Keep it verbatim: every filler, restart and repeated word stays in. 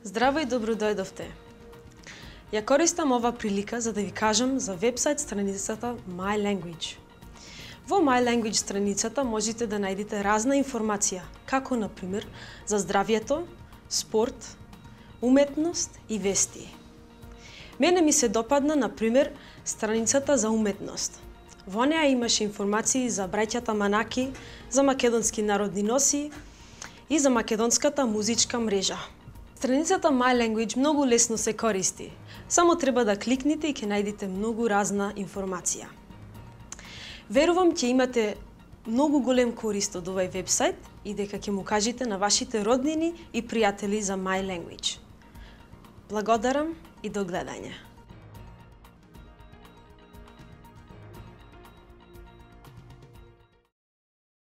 Здраво и добро дојдовте. Ја користам ова прилика за да ви кажам за вебсайт страницата My Language. Во My Language страницата можете да најдете разна информација, како на пример за здравјето, спорт, уметност и вести. Мене ми се допадна на пример страницата за уметност. Во неа имаше информации за браќата Манаки, за македонски народни носи и за македонската музичка мрежа. Страницата My Language многу лесно се користи. Само треба да кликнете и ќе најдете многу разна информација. Верувам ќе имате многу голем корист од овој вебсайт и дека ќе му кажете на вашите роднини и пријатели за My Language. Благодарам и до гледање.